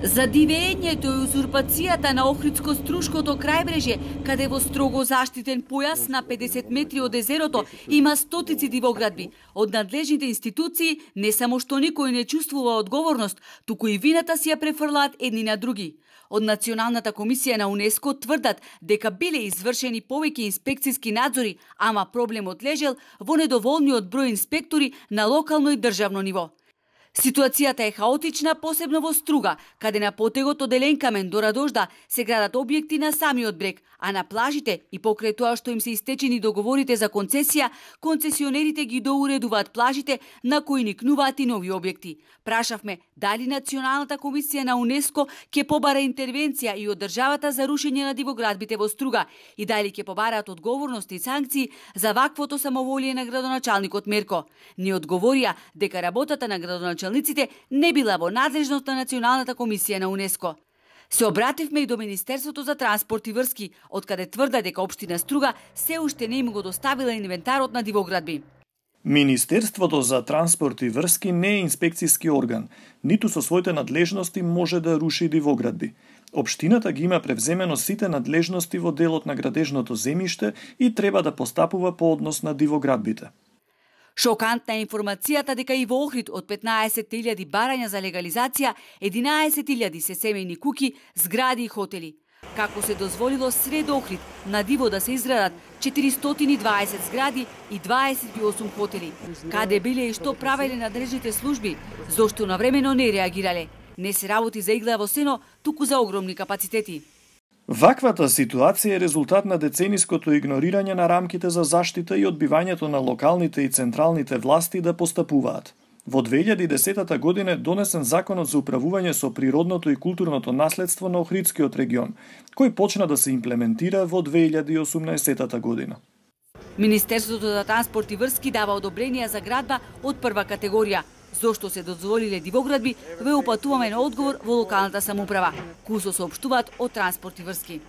За дивењето и узурпацијата на Охридско-Струшкото крајбрежје, каде во строго заштитен појас на 50 метри од езерото има стотици дивоградби. Од надлежните институции не само што никој не чувствува одговорност, туку и вината си ја префрлаат едни на други. Од Националната комисија на УНЕСКО тврдат дека биле извршени повеќе инспекцијски надзори, ама проблемот лежел во недоволниот број инспектори на локално и државно ниво. Ситуацијата е хаотична, посебно во Струга, каде на потегот од Еленкамен до Радожда се градат објекти на самиот брег, а на плажите и покрај тоа што им се истечени договорите за концесија, концесионерите ги доуредуваат плажите на кои никнуваат и нови објекти. Прашавме дали Националната комисија на УНЕСКО ќе побара интервенција и од државата за рушење на дивоградбите во Струга и дали ќе побараат одговорност и санкции за ваквото самоволие на градоначалникот Мерко. Ни одговорија дека работата на градоначалниците не била во надлежност на Националната комисија на УНЕСКО. Се обративме и до Министерството за транспорт и врски, откаде тврда дека општина Струга се уште не им го доставила инвентарот на дивоградби. Министерството за транспорт и врски не е инспекцијски орган, ниту со своите надлежности може да руши дивоградби. Општината ги има превземено сите надлежности во делот на градежното земјиште и треба да постапува по однос на дивоградбите. Шокантна е информацијата дека и во Охрид од 15.000 барања за легализација, 11.000 се семејни куќи, згради и хотели. Како се дозволило сред Охрид на диво да се изградат 420 згради и 28 хотели. Каде биле и што правеле надлежните служби, зошто навремено не реагирале. Не се работи за игла во сено, туку за огромни капацитети. Ваквата ситуација е резултат на децениското игнорирање на рамките за заштита и одбивањето на локалните и централните власти да постапуваат. Во 2010 година е донесен Законот за управување со природното и културното наследство на Охридскиот регион, кој почна да се имплементира во 2018 година. Министерството за транспорт и врски дава одобренија за градба од прва категорија. Зошто се дозволиле дивоградби, ве упатуваме на одговор во локалната самоуправа. Кусо соопштуваат од транспорт и врски.